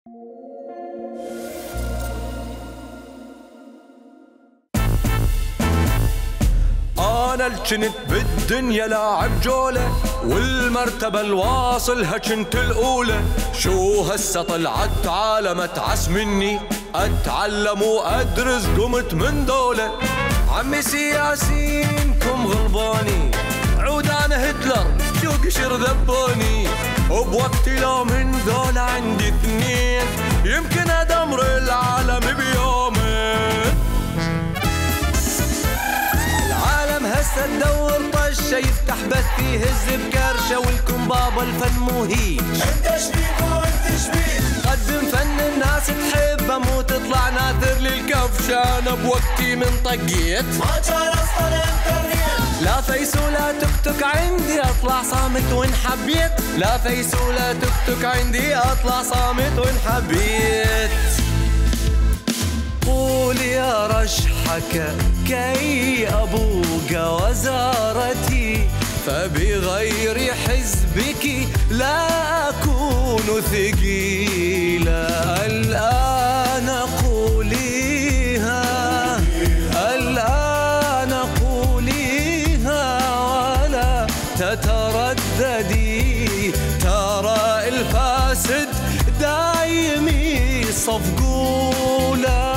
أنا الجنت بالدنيا لاعب جولة، والمرتبة الواصلها جنت الأولى. شو هسه طلعت عالم أتعس مني، أتعلم وأدرس قمت من دولة. عمي سياسينكم غلباني، عود أنا هتلر شو قشر ذبوني. وبوقتي لو من دولة عندي اثنين، يمكن أدمر العالم بيومين. هسه تدور طشة يفتح بث يهز بكرشة، والكم بابا الفن مو هيج. انت شبيك وانت شبيك، قدم فن الناس تحبه مو تطلع ناثر للكفشة. انا بوقتي من طقيت ما كان اصلا انترنت، لا فيس ولا تكتك عندي اطلع صامت وان حبيت. لا فيس ولا تكتك عندي اطلع صامت وان حبيت. قول يا رشحك كي أبوق وزارتي، فبغير حزبك لا أكون ثقيلا. الآن قوليها، الآن قوليها ولا تترددي. ترى الفاسد دايم يصفقولا.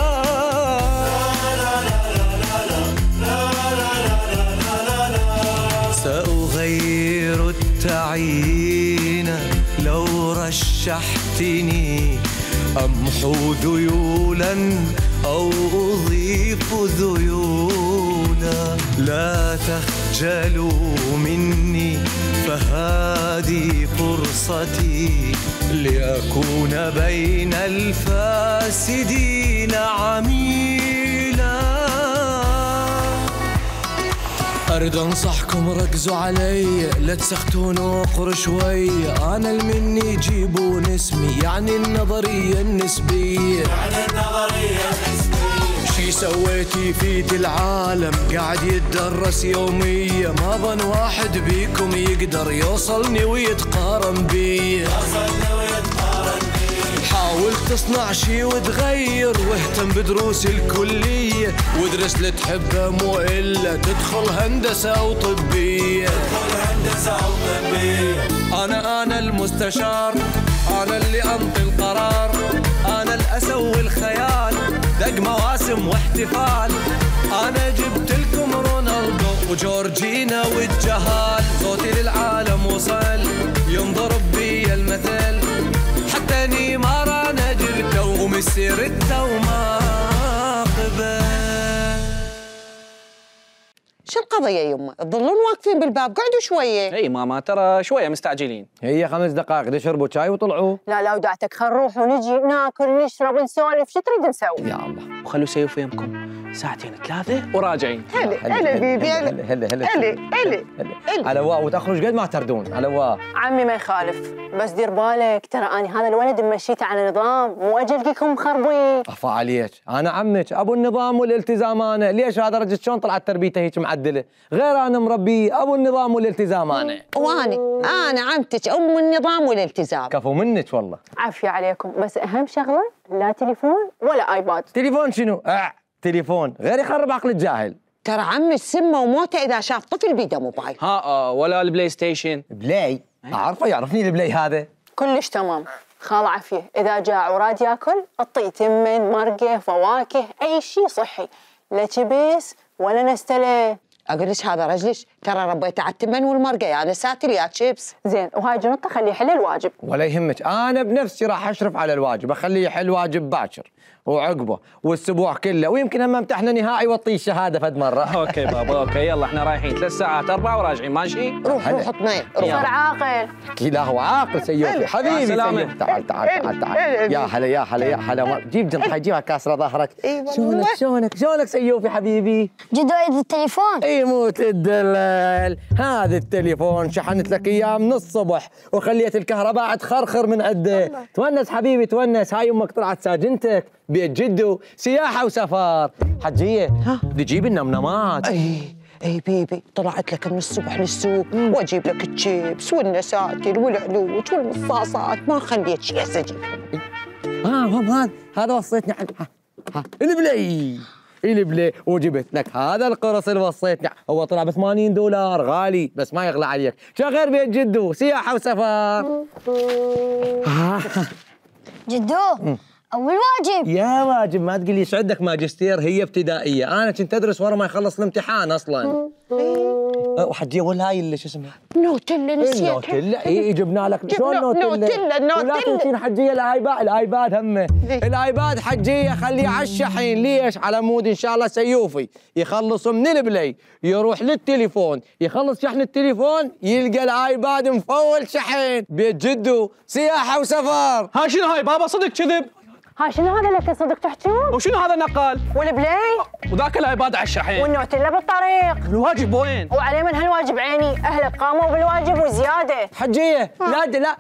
سأغير التعيين لو رشحتني، أمحو ذيولا أو أضيف ذيولا. لا تخجلوا مني فهذه فرصتي، لأكون بين الفاسدين عميلا. أريد أنصحكم ركزوا علي، لا تسختون وقر شوي. أنا المني جيبون اسمي، يعني النظرية النسبية. يعني النظرية النسبية. شي سويتي في العالم قاعد يتدرس يوميا، ما ظن واحد بيكم يقدر يوصلني ويتقارن بي. يوصلني ويتقارن بي. حاول تصنع شي وتغير، واهتم بدروس الكلية، وادرس اللي تحبه مو إلا تدخل هندسة أو طبية. تدخل هندسة أو طبية. أنا المستشار، أنا اللي أنطي القرار، أنا الأسوي الخيال، دق مواسم واحتفال. أنا جبت لكم رونالدو وجورجينا والجهال. صوتي للعالم وصل، ينضرب بي المثل، حتى نيمار أنا جبته وميسي رده وما قبل. شو القضية يمه؟ تظلون واقفين بالباب، قعدوا شوية. اي ماما ترى شوية مستعجلين. هي 5 دقائق يشربوا شاي وطلعوا. لا ودعتك خل نروح ونجي ناكل نشرب ونسولف، شو تريد نسوي؟ يا الله. وخلوا سيوف يمكم 2 3 وراجعين. هلا بيبي، هلا. على واو وتاخروا قد ما تردون. على واو عمي ما يخالف، بس دير بالك ترى أنا هذا الولد مشيته على نظام، مو أجلكم مخربين. أخفى عليك، أنا عمك أبو النظام والالتزام. أنا ليش هذا رجل شلون طلعت تربيته هيك معدلة؟ غير أنا مربي أبو النظام والالتزام. أنا عمتك أم النظام والالتزام. كفو منك والله. عافية عليكم، بس أهم شغلة لا تليفون ولا آيباد. تليفون شنو؟ تليفون غير يخرب عقل الجاهل. ترى عمي سمه وموته إذا شاف طفل بيده موبايل. ولا البلاي ستيشن. بلاي؟ أعرفه، يعرفني البلاي هذا. كلش تمام. خال عافية، إذا جاع وراد ياكل اعطيه تمن، مرقة، فواكه، أي شيء صحي، لا كبس ولا نستله. أقولش هذا رجلش ترى ربيته على التمن والمرقة، يا نساتر يا شيبس. زين، وهاي جنطة خليه يحل الواجب. ولا يهمك، أنا بنفسي راح أشرف على الواجب، أخليه يحل واجب باكر وعقبه والأسبوع كله، ويمكن هم امتحنا نهائي واعطيه الشهادة فد مرة. اوكي بابا اوكي، يلا احنا رايحين 3 ساعات 4 وراجعين، ماشي؟ روح اطمئن، روح. صار عاقل. اكيد هو عاقل سيوفي حبيبي. سيوفي تعال تعال تعال. يا هلا يا هلا يا هلا. جيب جنطة، جيبها كاسرة ظهرك. شلونك سيوفي حبيبي؟ جد وايد التليفون. يموت الدلال، هذا التليفون شحنت لك اياه من الصبح وخليت الكهرباء تخرخر من عنده. تونس حبيبي تونس. هاي امك طلعت ساجنتك بيت جدو، سياحة وسفر. حجية تجيب النمنمات. اي بيبي، طلعت لك من الصبح للسوق واجيب لك الشيبس والنساتر والعلوج والمصاصات، ما خليت شيء اجيبهم. هم هذا وصيتني عنه. البلي وجبت لك هذا القرص اللي وصيتني. هو طلع ب $80 غالي بس ما يغلى عليك. شو غير بيت جدو؟ سياحة وسفر. جدو أول واجب. يا واجب ما تقول لي ايش عندك ماجستير، هي ابتدائية، أنا كنت أدرس ورا ما يخلص الامتحان أصلاً. وحجية ولا هاي اللي شو اسمها؟ نوتيلا نسيتها. نوتيلا إي جبنا لك. شلون نوتيلا؟ ولا تنسين حجية الآيباد همه. الآيباد حجية خليه على الشحن. ليش؟ على مود إن شاء الله سيوفي يخلص من البلاي يروح للتليفون، يخلص شحن التليفون يلقى الآيباد مفول شحن. بيت جدو سياحة وسفر. هاي شنو هاي بابا؟ صدق كذب. هاي شنو هذا اللي صدق تحجون؟ وشنو هذا النقال؟ والبلاي وذاك الايباد على الشحن. والنوتيلا بالطريق. الواجب وين؟ وعليه من هالواجب عيني، اهلك قاموا بالواجب وزياده. حجية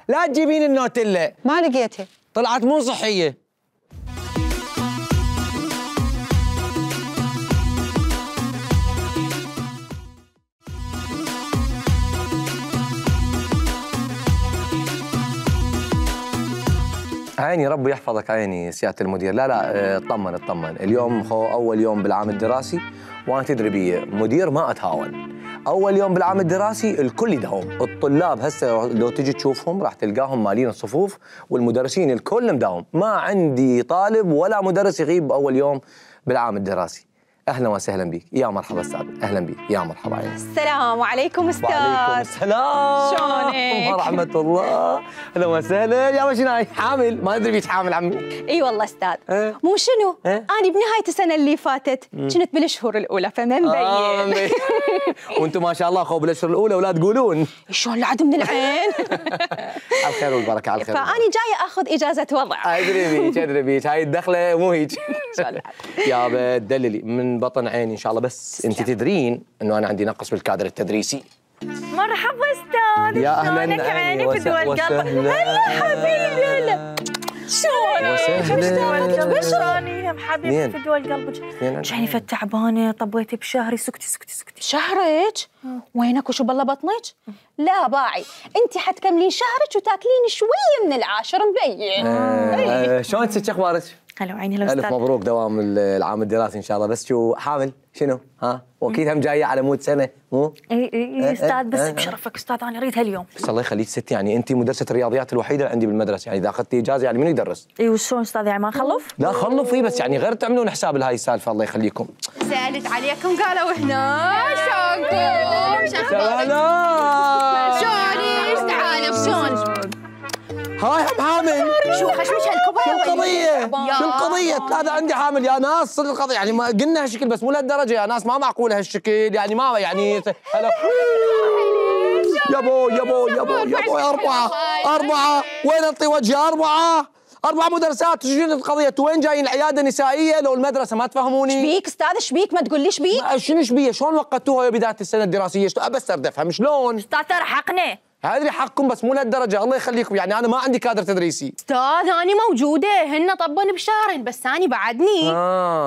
لا تجيبين النوتيلا، ما لقيتها، طلعت مو صحية. عيني ربي يحفظك عيني سيادة المدير. لا اطمن. اليوم هو أول يوم بالعام الدراسي، وأنا تدري بي مدير ما أتهاون. أول يوم بالعام الدراسي الكل يداوم، الطلاب هسه لو تجي تشوفهم راح تلقاهم مالين الصفوف، والمدرسين الكل مداوم. ما عندي طالب ولا مدرس يغيب أول يوم بالعام الدراسي. أهلا وسهلا بك، يا مرحبا أستاذ، أهلا بك، يا مرحبا عيني. السلام عليكم أستاذ. وعليكم السلام. شلونك؟ ورحمة الله. أهلا وسهلا. يا شنو حامل؟ ما أدري بيش حامل عمي. اي والله أستاذ. مو شنو؟ أنا بنهاية السنة اللي فاتت كنت بالأشهر الأولى فما مبين. وأنتم ما شاء الله خو بالأشهر الأولى ولا تقولون. شلون العد من العين؟ على الخير والبركة، على الخير. فأنا جاية آخذ إجازة وضع. أدري بيك هاي الدخلة مو هيك. يا تدللي من بطن عيني إن شاء الله. بس أنت تدرين إنه أنا عندي نقص بالكادر التدريسي. مرحبا أستاذ. يا أهلا عيني في دول قلب. هلا حبيبي هلا. شلونك؟ بشراني حبيبتي في دول قلبك. جاني تعبانة طبيتي بشهري. سكتي. شهرك؟ وينك وشو بالله بطنك؟ لا باعي، انت حتكملين شهرك وتاكلين شويه من العاشر مبين. شلون ست اخبارك؟ هلا عيني لو الف مبروك دوام العام الدراسي ان شاء الله. بس شو حامل شنو؟ واكيد هم جايه على مود سنه مو؟ اي استاذ بس بشرفك استاذ انا اريد هاليوم. بس الله يخليك ست، يعني انت مدرسه الرياضيات الوحيده اللي عندي بالمدرسه، يعني اذا اخذتي اجازه يعني منو يدرس؟ اي وشلون استاذ يعني ما نخلف؟ لا خلفي بس يعني غير تعملون حساب لهاي السالفه. الله يخليكم. سالت عليكم قالوا هنا شلونكم؟ شلونك؟ تعالوا شلون؟ هاي هم حامل. شو خشمش هالكبايه؟ شو القضيه؟ ثلاثة عندي حامل يا ناس. صدق القضيه يعني ما قلنا هالشكل بس مو لهالدرجه يا ناس، ما معقول هالشكل يعني ما يعني هلا يابو أربعة وين أنطي وجهي؟ أربعة مدرسات. شنو القضية؟ وين جايين العيادة النسائية لو المدرسة ما تفهموني؟ شبيك أستاذ شبيك؟ ما تقول لي شبيك؟ شنو شبيه؟ شلون وقتوها يا بداية السنة الدراسية؟ بس أريد أفهم شلون؟ أستاذ ترى حقنا. هذه حقكم بس مو لهالدرجة. الله يخليكم يعني أنا ما عندي كادر تدريسي. أستاذ أنا موجودة، هن طبون بشهرين بس أنا بعدني.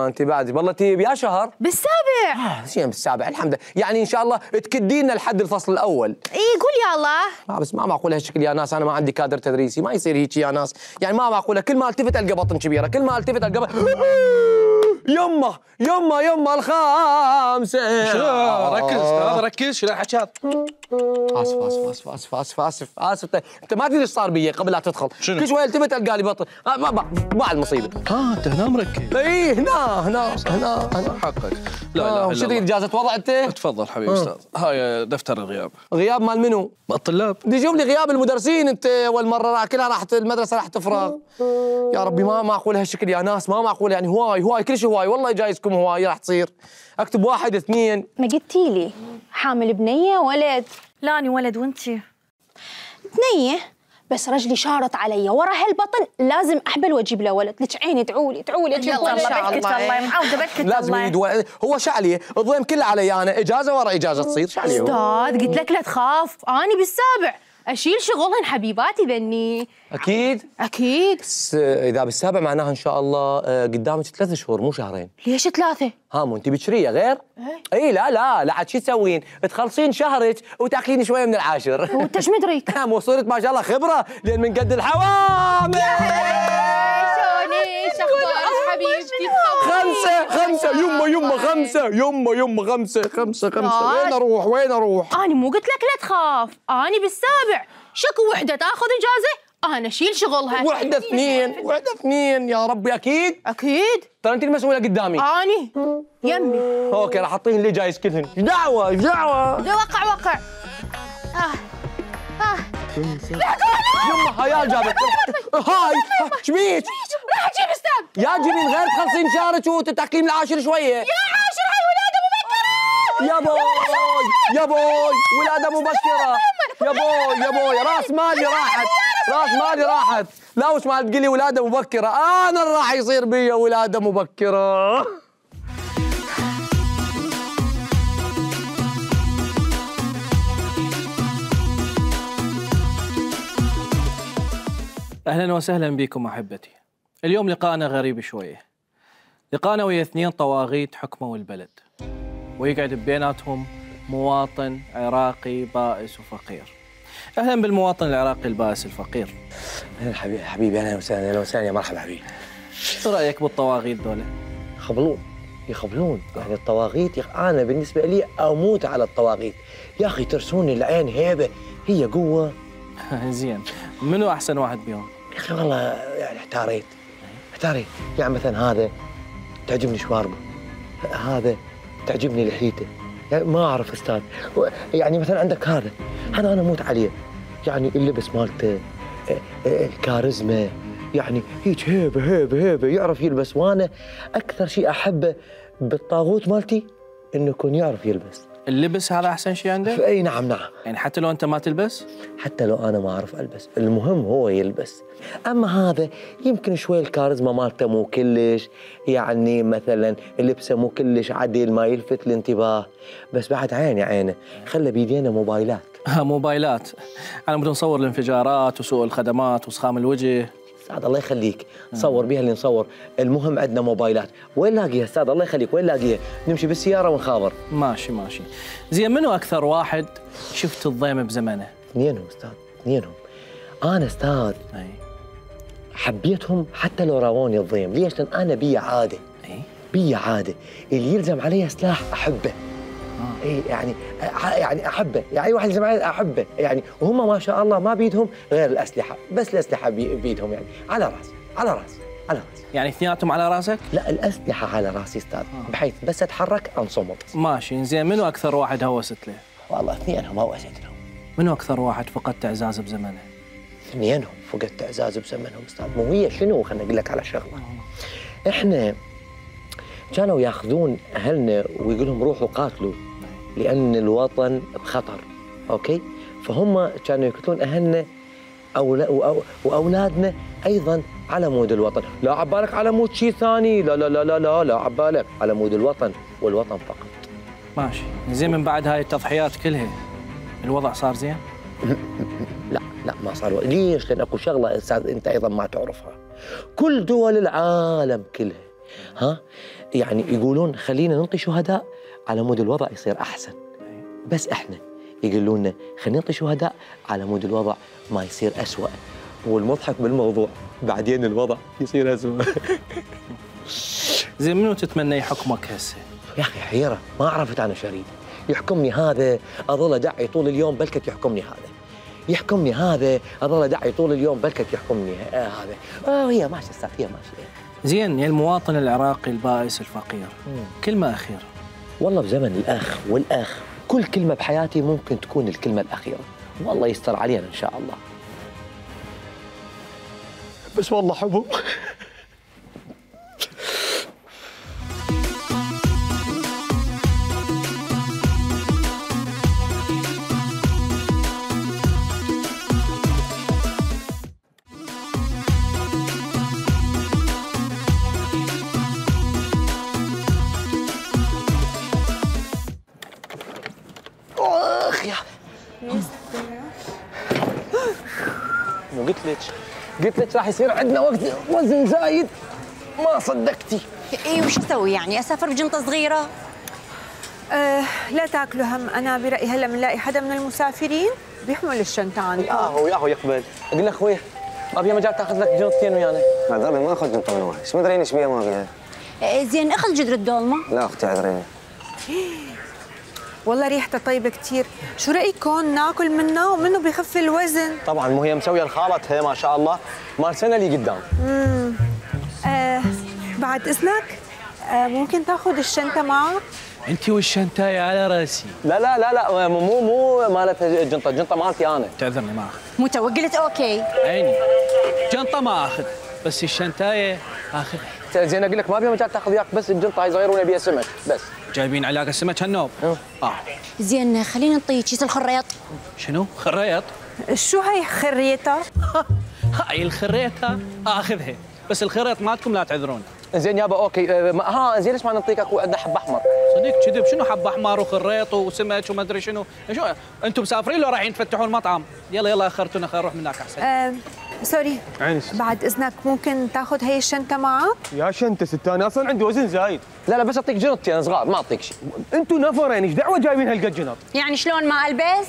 أنت بعدي والله تجيب يا شهر؟ بالسابع. شيء بالسابع الحمد لله. يعني إن شاء الله تكدينا لحد الفصل الأول. إي قول يا الله. بس ما معقول هالشكل يا ناس. أنا ما عندي كادر تدريسي، ما يصير هيك يا ناس. يعني ما معقولة كل ما التفت ألقى بطن كبيرة، كل ما التفت ألقى يمه الخامسة. ركز استاذ ركز. شو الحكي؟ اسف انت ما تدري ايش صار بي قبل لا تدخل. شنو؟ كل شوي التفت القى لي بطن. ما المصيبه. انت هنا مركز. اي هنا حقك. لا وش تريد اجازه وضع انت؟ تفضل حبيبي استاذ. هاي دفتر الغياب. غياب مال منو؟ الطلاب. بدي جيب لي غياب المدرسين. انت اول مره كلها راحت المدرسه راح تفرغ. يا ربي ما معقول هالشكل يا ناس، ما معقول يعني. هواي كل شيء هواي والله جايزكم هواي راح تصير. اكتب 1 2. ما قلتي لي حامل بنيه ولد؟ لا أنا ولد وانتي؟ بنيه بس رجلي شارط علي ورا هالبطن لازم احبل واجيب له ولد. لك عيني ادعوا لي ان شاء الله بركة الله معوده بركة الله. لازم يريد هو شعلي الضيم كله علي انا. اجازه ورا اجازه تصير شعلي. استاذ قلت لك لا تخاف اني بالسابع اشيل شغلهن حبيباتي ذني. اكيد بس اذا بالسابع معناها ان شاء الله قدامك 3 شهور مو شهرين. ليش 3؟ مو انت بكريه غير؟ اي لا عاد شو تسوين؟ تخلصين شهرك وتاكلين شويه من العاشر. وانت ايش مدريك؟ مو صرت ما شاء الله خبره لان من قد الحوامل. خمسة يمه خمسة يمه خمسة وين اروح أنا مو قلت لك لا تخاف، أنا بالسابع، شكو وحدة تاخذ إجازة أنا أشيل شغلها. وحدة اثنين يا ربي أكيد ترى أنت المسؤولة قدامي. أني يمي. أوكي راح أعطيهن اللي جايز كلهن. إيش دعوة وقع. يمه هيا جابت. هاي شبيك؟ راح أجيب أستاذ. يا جميل غير تخلصين شهرك وتتأقلم العاشر شوية. يا عاشر هاي ولادة مبكرة. يا بوي ولادة مبكرة. يا بوي راس مالي راحت. لا وش ما تقولي ولادة مبكرة، أنا اللي راح يصير بي ولادة مبكرة. أهلا وسهلا بكم أحبتي. اليوم لقاءنا غريب شوية. لقاءنا ويا 2 طواغيت حكموا البلد، ويقعد بيناتهم مواطن عراقي بائس وفقير. أهلا بالمواطن العراقي البائس الفقير. أهلا حبيبي أهلا وسهلا يا مرحبا حبيبي. شو رأيك بالطواغيت دولة؟ يخبلون يعني الطواغيت أنا بالنسبة لي أموت على الطواغيت يا أخي، ترسوني العين هيبة، هي قوة. زين، منو أحسن واحد بيهم؟ يا أخي والله يعني احتاريت يعني مثلا هذا تعجبني شواربه، هذا تعجبني لحيته، يعني ما أعرف أستاذ. يعني مثلا عندك هذا أنا أموت عليه، يعني اللبس مالته، الكاريزما، يعني هيك هيبة يعرف يلبس. وأنا أكثر شيء أحبه بالطاغوت مالتي إنه يكون يعرف يلبس. اللبس هذا أحسن شيء عندك؟ أي نعم. يعني حتى لو أنت ما تلبس؟ حتى لو أنا ما أعرف ألبس، المهم هو يلبس. أما هذا يمكن شوي الكاريزما مالته مو كلش، يعني مثلا لبسه مو كلش عدل، ما يلفت الانتباه، بس بعد عينه خلى بيدينا موبايلات. موبايلات، أنا بدي نصور الانفجارات وسوء الخدمات وسخام الوجه. استاذ الله يخليك صور بيها اللي نصور، المهم عندنا موبايلات. وين لاقيها استاذ الله يخليك، وين لاقيها؟ نمشي بالسياره ونخابر. ماشي. زين، منو اكثر واحد شفت الضيم بزمنه؟ اثنينهم استاذ، اثنينهم. انا استاذ حبيتهم حتى لو راوني الضيم. ليش؟ لان انا بي عاده اللي يلزم علي سلاح احبه. يعني احبه، يعني اي واحد يلزم علي احبه يعني. وهم ما شاء الله ما بيدهم غير الاسلحه، بس الاسلحه بيدهم يعني على راس. يعني اثنيناتهم على راسك؟ لا الاسلحه على راسي استاذ، بحيث بس اتحرك انصمت. ماشي. زين، منو اكثر واحد هوست له؟ والله اثنينهم هوست لهم. منو اكثر واحد فقدت اعزاز بزمنه؟ اثنينهم فقدت اعزاز بزمنهم استاذ. مو هي شنو، خليني اقول لك على شغله. احنا كانوا ياخذون اهلنا ويقول لهم روحوا قاتلوا لان الوطن بخطر، اوكي؟ فهم كانوا يقتلون اهلنا واولادنا ايضا على مود الوطن. لا عبالك على مود شيء ثاني، لا عبالك على مود الوطن والوطن فقط. ماشي. زين، من بعد هاي التضحيات كلها الوضع صار زين؟ لا ما صار. ليش؟ لان اكو شغله استاذ انت ايضا ما تعرفها. كل دول العالم كلها يعني يقولون خلينا ننطي شهداء على مود الوضع يصير احسن، بس احنا يقولون لنا خلينا نعطي شهداء على مود الوضع ما يصير أسوأ. والمضحك بالموضوع بعدين الوضع يصير أسوأ. زين، منو تتمنى يحكمك هسه؟ يا أخي حيرة، ما عرفت أنا شريد. يحكمني هذا أظل أدعي طول اليوم بلكت يحكمني هذا، أظل أدعي طول اليوم بلكت يحكمني هذا. هي ماشية استاذ، هي ماشية. زين، يا المواطن العراقي البائس الفقير، كلمة أخيرة. والله بزمن الأخ كل كلمة بحياتي ممكن تكون الكلمة الأخيرة، والله يستر علينا إن شاء الله. بس والله حبه. قلت لك راح يصير عندنا وقت وزن زايد، ما صدقتي. وش اسوي يعني؟ اسافر بجنطه صغيره؟ لا تاكلوا هم، انا برايي هلا بنلاقي حدا من المسافرين بيحمل الشنطه عنده. ياهو يقبل. اقول لك خويا ما بيها مجال تاخذ لك جنطتين ويانا. لا ما اخذ جنطه من واحد، ما ادري ايش بيها ما بيها. زين اخذ جذر الدولمه. لا اختي اعذريني. والله ريحته طيبه كثير، شو رايكم ناكل منه ومنه بخف الوزن؟ طبعا مو هي مسويه لخالتها ما شاء الله مال سنه اللي قدام. بعد اذنك ممكن تاخذ الشنطه معك؟ انت والشنطايه على راسي. لا لا لا لا مو مالتها الجنطه، الجنطه مالتي انا. تعذرني ما اخذ. مو تو قلت اوكي. عيني جنطه ما اخذ بس الشنطايه اخذها. زين اقول لك ما بيها مجال تاخذ وياك بس الجنطه هاي صغيره ونبيها سمك بس. جايبين علاقه السمك هالنوب؟ زين خلينا نعطيه كيس الخريط. شنو؟ خريط؟ شو هي خريطه؟ هاي الخريطه اخذها بس الخريط مالتكم لا تعذرون. زين يابا اوكي زين ليش ما نعطيك اكو عندنا حب احمر؟ صدق كذب شنو حب احمر وخريط وسمك وما ادري شنو انتم مسافرين لو رايحين تفتحون مطعم؟ يلا اخرتونا خلينا نروح من هناك احسن. سوري بعد اذنك ممكن تاخذ هي الشنطه معك؟ يا شنطه ست انا اصلا عندي وزن زايد. لا بس اعطيك جنطتي انا صغار ما اعطيك شيء. انتم نفرين ايش دعوه جايبين هالقد جنط؟ يعني شلون ما البس؟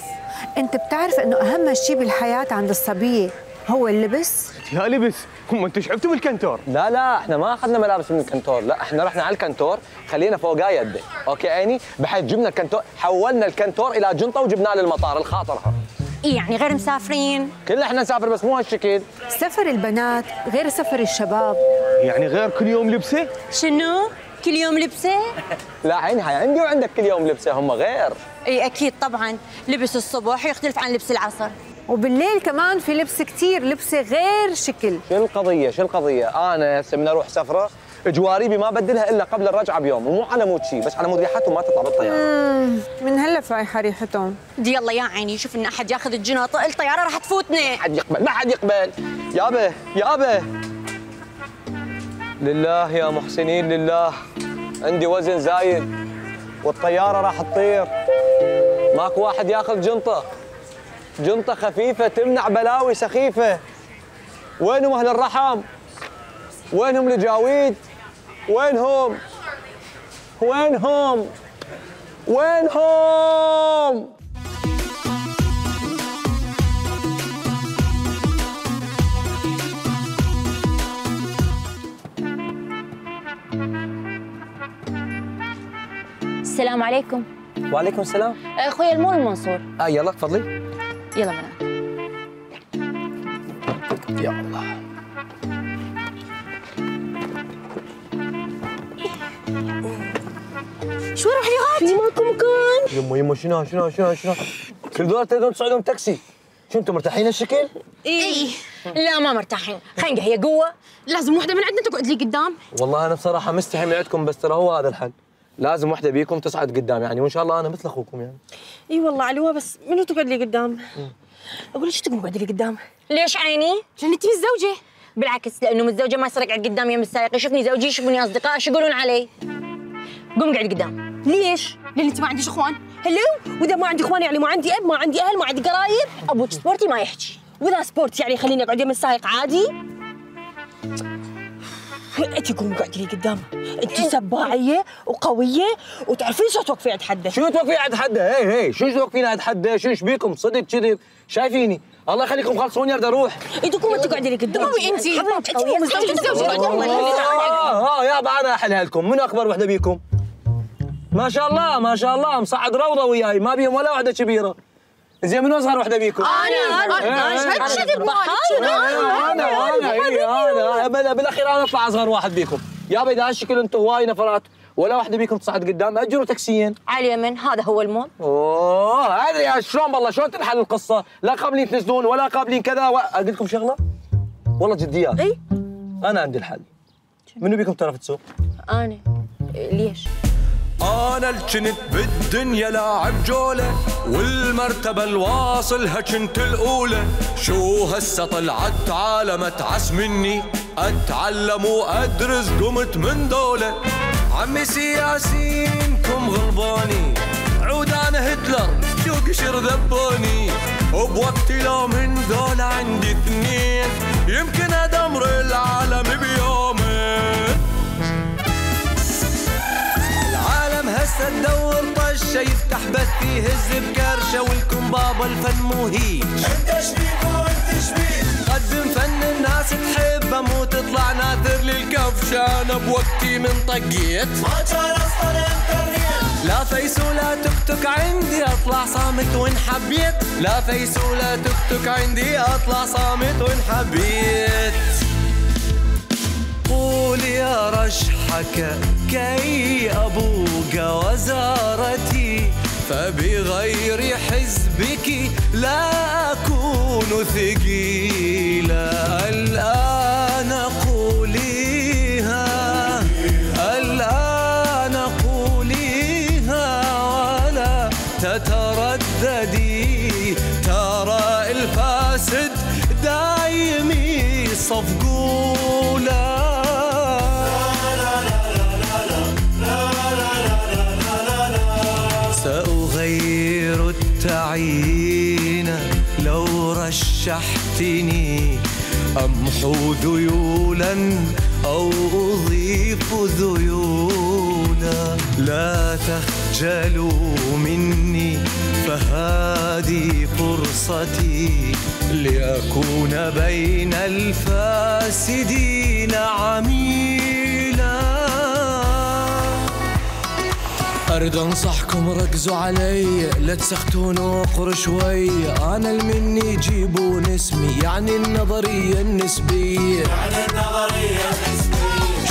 انت بتعرف انه اهم شيء بالحياه عند الصبيه هو اللبس؟ يا لبس هم انتم شفتوا بالكنتور؟ لا احنا ما اخذنا ملابس من الكنتور، لا احنا رحنا على الكنتور خلينا فوقاه يده، اوكي عيني؟ بحيث جبنا الكنتور حولنا الكنتور الى جنطه وجبناه للمطار الخاطرها. يعني غير مسافرين؟ كلنا احنا نسافر بس مو هالشكل. سفر البنات غير سفر الشباب. يعني غير كل يوم لبسه؟ شنو؟ كل يوم لبسه؟ لا عيني هاي عندي وعندك كل يوم لبسه هم غير. اي اكيد طبعا، لبس الصبح يختلف عن لبس العصر. وبالليل كمان في لبس كثير، لبسه غير شكل. شو القضية؟ أنا هسه من أروح سفرة جواريبي ما بدلها إلا قبل الرجعة بيوم، ومو على مود شيء بس على مود ريحتهم ما تطلع بالطيارة. من هلا فايحة ريحتهم. دي يلا يا عيني شوف إن أحد ياخذ الجنط الطيارة راح تفوتنا. ما حد يقبل. يابا لله يا محسنين لله عندي وزن زايد والطيارة راح تطير. ماكو واحد ياخذ جنطة خفيفة تمنع بلاوي سخيفة. وينهم أهل الرحم؟ وينهم الجاويد؟ وينهم؟ السلام عليكم. وعليكم السلام. اخوي المول المنصور. يلا تفضلي. يلا بنات. يا الله. شو اروح لي غاد؟ في ماكو مكان. يمه شنو كل دول تقدرون تصعدون تاكسي. شو انتم مرتاحين هالشكل؟ اي لا ما مرتاحين، خنقه هي قوه، لازم وحده من عندنا تقعد لي قدام. والله انا بصراحه مستحي من عندكم بس ترى هو هذا الحل، لازم وحده بيكم تصعد قدام يعني وان شاء الله انا مثل اخوكم يعني. اي والله علوه بس منو تقعد لي قدام؟ اقول لك شو تقوم قاعده لي قدام؟ ليش عيني؟ عشان انت متزوجه. بالعكس لانه متزوجه ما يصير يقعد قدامي يم السائق، يشوفني زوجي يشوفوني اصدقاء شو يقولون علي؟ قوم قاعد قدام. ليش؟ لان انت ما عنديش اخوان. هلو، واذا ما عندي اخوان يعني ما عندي اب، ما عندي اهل، ما عندي قرايب. ابوك سبورتي ما يحكي، واذا سبورت يعني خليني اقعد يم السائق عادي. انت قوم قاعد لي قدام، انت سباعيه وقويه وتعرفين شو توقفي عند حده. شو توقفين عند حده؟ هي شو توقفين عند حده؟ شو ايش بيكم؟ صدق كذب؟ شايفيني؟ الله يخليكم خلصوني اريد اروح. انت قومي تقعدي لي قدام. انت يابا انا احلها لكم، منو اكبر وحده بيكم؟ ما شاء الله مصعد روضه وياي ما بيهم ولا وحده كبيره. زين منو اصغر وحده بيكم؟ انا بالاخير انا اطلع اصغر واحد بيكم. يابا اذا هالشكل انتم هواي نفرات ولا وحده بيكم تصعد قدام اجروا تاكسيين. على اليمين هذا هو المول. ادري شلون والله شلون تنحل القصه؟ لا قابلين تنزلون ولا قابلين كذا اقول لكم شغله والله جديات. اي انا عندي الحل. منو بيكم تعرف تسوق؟ انا. ليش؟ أنا الجنت بالدنيا لاعب جولة والمرتبة الواصلها كنت الأولى. شو هسه طلعت عالم أتعس مني أتعلم وأدرس قمت من دولة. عمي سياسينكم غلباني عود أنا هتلر شو قشر ذبوني. وبوقتي لو من دولة عندي اثنين يمكن أدمر العالم بيومين. هسه تدور طشه يفتح بث يهز بكرشه ولكم بابا الفن مو هيج. انت شبيك وانت شبيك قدم فن الناس تحبه مو تطلع ناثر للكفشه. كان بوقتي من طقيت ما كان اصلا انترنت. لا فيس ولا تكتك عندي اطلع صامت وان حبيت. لا فيس ولا تكتك عندي اطلع صامت وان حبيت. قول يا رشحك كي أبوق وزارتي فبغير حزبك لا أكون ثقيلا. الآن قوليها الآن قوليها ولا تترددي. ترى الفاسد دايمي صفقولا. سأغير التعيين لو رشحتني. أمحو ذيولا أو أضيف ذيولا. لا تخجلوا مني فهذه فرصتي لأكون بين الفاسدين عميلا. أريد أنصحكم ركزوا علي لا تسختون وقر شوي. أنا المني جيبون اسمي يعني النظرية النسبية.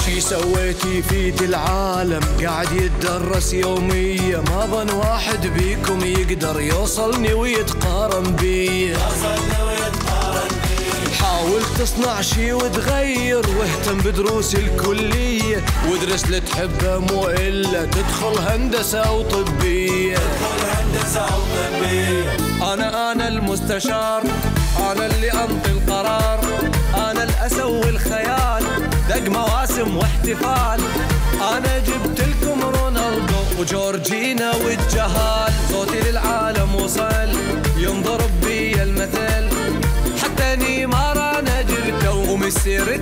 شي سويتي فيت العالم قاعد يتدرس يوميا. ما ظن واحد بيكم يقدر يوصلني ويتقارن بي. حاول تصنع شي وتغير واهتم بدروس الكلية. وادرس اللي تحبه مو إلا تدخل هندسة أو طبية. أنا المستشار. أنا اللي أنطي القرار. أنا اللي أسوي الخيال. دق مواسم واحتفال. أنا جبت لكم رونالدو وجورجينا والجهال. صوتي للعالم وصل ينضرب بي المثل. حتى نيمار أنا جبته ومسير